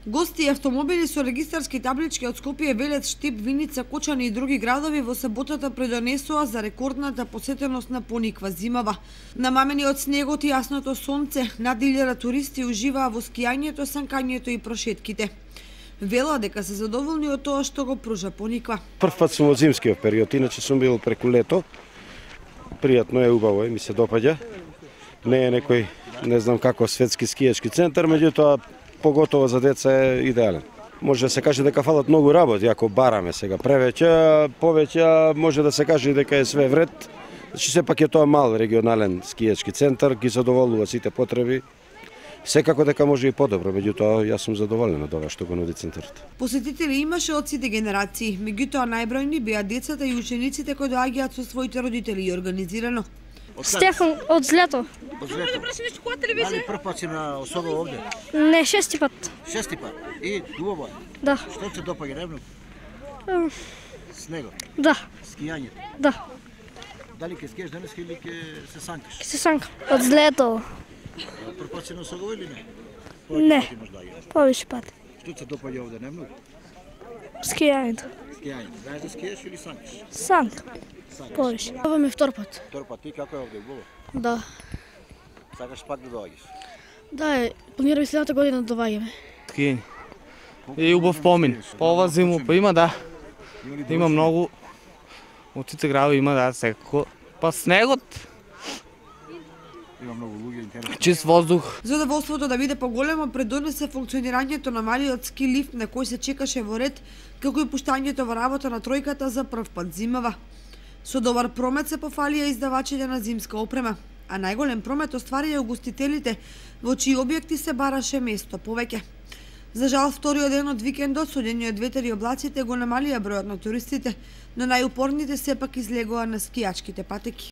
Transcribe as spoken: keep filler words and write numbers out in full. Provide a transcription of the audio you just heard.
Гости и автомобили со регистарски таблички од Скопје, Велес, Штип, Виница, Кочани и други градови во саботата предонесоа за рекордната посетеност на Пониква зимава. Намамени од снегот и јасното сонце, над илјада туристи уживаа во скијањето, санкањето и прошетките. Вела дека се задоволни од тоа што го пружа Пониква. Прв пат сум во зимскиот период, иначе сум бил преку лето. Пријатно е, убаво е, ми се допаѓа. Не е некој, не знам како, светски скијачки центар, меѓутоа поготово за деца е идеален. Може да се каже дека фалат многу работи, ако бараме сега превеќе, повеќе може да се каже дека е све вред. Значи сепак е тоа мал регионален скијачки центар, ги задоволува сите потреби. Секако дека може и подобро, меѓутоа јас сум задоволен од ова што го нуди центарот. Посетители имаше од сите генерации, меѓутоа најбројни беа децата и учениците кои доаѓаат со своите родители и организирано. Стефан од Злето. Од Злето. Дали прв пат си на особа овде? Не, шести пат. Шести пат. И убаво е? Да. Што се допаѓа најмногу? Снегот? Да. Скијањето? Да. Дали ќе скиеш денес или ќе се санкаш? Ќе се санкам. Од Злето. Прв пат си на особа или не? Не. Повише пати. Што се допаѓа овде најмногу? Скијањето. Скијањето. Знаеш да скиеш или санкаш? Санкам. Повише. Ова ми е втор пат. Втор пат. Ти како е овде, убаво? Да. Сакаш пак да доаѓаш? Да, планираме следната година да доаѓаме. Скијање. И убав помин. По ова зиму, па има да. Има многу. Од сите градови има да, секако. Па снегот. Има многу луѓе интересни. Чист воздух. Задоволството да биде поголемо предонесе функционирањето на малиот ски лифт на кој се чекаше во ред, како и пуштањето во работа на тројката за прв пат зимава. Со добар промет се пофалија издавачите на зимска опрема, а најголем промет остварија угостителите, во чии објекти се бараше место повеќе. За жал, вториот ден од викендот, судени од ветер и облаците, го намалија бројот на туристите, но најупорните сепак излегоа на скијачките патеки.